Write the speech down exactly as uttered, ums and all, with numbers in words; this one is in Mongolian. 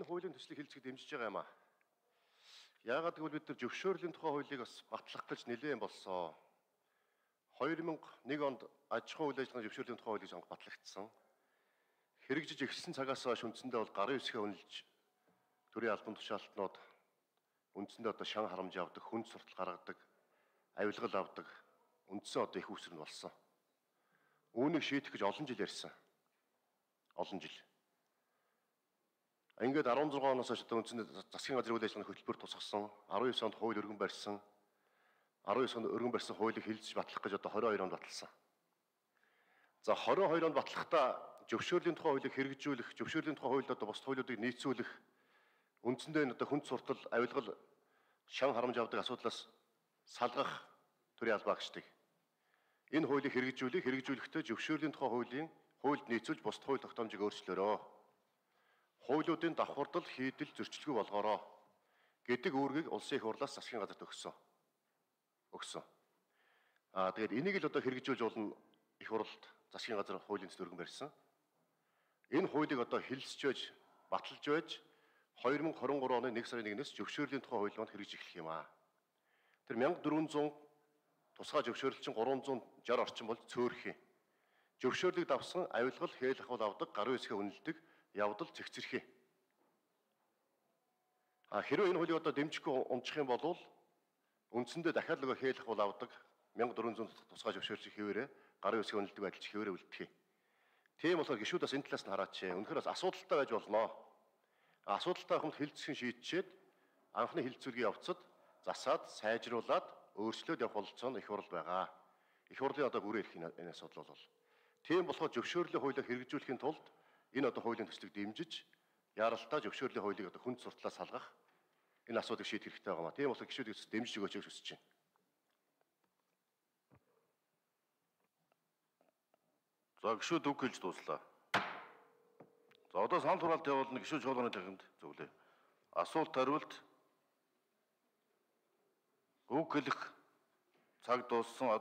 энэ хуулийн төслийг хэлцэх дэмжиж байгаа юм аа. Яагаад гэвэл бид нар зөвшөөрлийн тухай хуулийг бас батлах гэж нэлээд болсон. хоёр мянга нэг онд аж ахуй үйл ажиллагааны зөвшөөрлийн тухай хуулийг сонгох батлагдсан. Хэрэгжиж эхэлсэн цагаас хойш үндсэндээ бол гарын үсгээ үнэлж төрийн албан тушаалтнууд үндсэндээ одоо шан харамж авдаг, хүнд суртал гаргадаг, авилгал авдаг үндсэн одоо их үүсвэр нь болсон. Үүнийг шийдэх гэж олон жил ярьсан. Олон жил. Ингээд арван зургаан оноос хойш одоо үндсэндээ засгийн газрын үйл ажиллагааны хөтөлбөр тусгасан, арван девь онд хууль өргөн барьсан, арван девь онд өргөн барьсан хуулийг хэлэлцэж батлах гэж одоо двадцать хоёр онд баталсан. За двадцать хоёр онд батлахдаа зөвшөөрлийн тухай хуулийг хэрэгжүүлэх, зөвшөөрлийн тухай хуульд одоо бус хуулиудыг нийцүүлэх, үндсэндээ энэ одоо хүнд суртал, авилгал, шан харамж авдаг асуудлаас салгах төрийн албаа агчдыг. Энэ хуулийг хэрэгжүүлэх, хэрэгжүүлэхдээ зөвшөөрлийн тухай хуулийн хуульд нийцүүлж бус хууль тогтоомжийг өөрчлөөрөө. Хуулиудын давхардал, хийдэл, зөрчилгүй болгоороо гэдэг үүргийг улсын их хурлаас засгийн газарт өгсөн. Өгсөн. Аа тэгээд энийг л одоо хэрэгжүүлж болно их хурлд засгийн газар хуулийн төсөл өргөн барьсан. Энэ хуулийг одоо хэлэлцэж байж, баталж байж хоёр мянга хорин гурван оны нэг сарын нэгнээс зөвшөөрлийн тухай хууль маань хэрэгжиж эхлэх юм аа. Тэр мянга дөрвөн зуун тусгай зөвшөөрөл чинь гурван зуун шарь орчим бол цөөрөх юм. Зөвшөөрлийг давсан авилгал, хээл ахуйл авдаг, гарын үсгээ үнэлдэг, явдал цэгцэрхий. А хэрвээ энэ хуулийг одоо дэмжихгүй унчих юм бол үндсэндээ дахиад нөгөө хээл ахуйл авдаг мянга дөрвөн зуун тусгай зөвшөөрөл хэвээрээ гарын үсгээ үнэлдэг адилж хэвээрээ үлдэх юм. Тийм болохоор гишүүд бас энэ талаас нь хараач. Үнэхээр бас асуудалтай байж болно. Асуудалтай хүмүүс хэлцэх шийдчихэд анхны хилцүүлгийн явцад засаад, сайжруулад, өөрчлөөд явах бололцоо нь их хурл байгаа. Их хурлын одоо бүрээ ирэх энэ асуудал бол. Тийм болохоор зөвшөөрлийн хуулийг хэрэгжүүлэхийн тулд энэ одоо хуулийн төслийг дэмжиж, яралтаа зөвшөөрлийн хуулийг одоо хүнд суртлаас салгах энэ асуудыг шийдэх хэрэгтэй байгаа маа. Тийм болохоор гишүүдийг дэмжиж өгөөч гэж хүсэж байна. За гишүүд үг хэлж дууслаа. За одоо санал хураалт явуулна гишүүд чуулганы тахинд зөвлөө. Асуулт хариулт үг хэлэх цаг дууссан.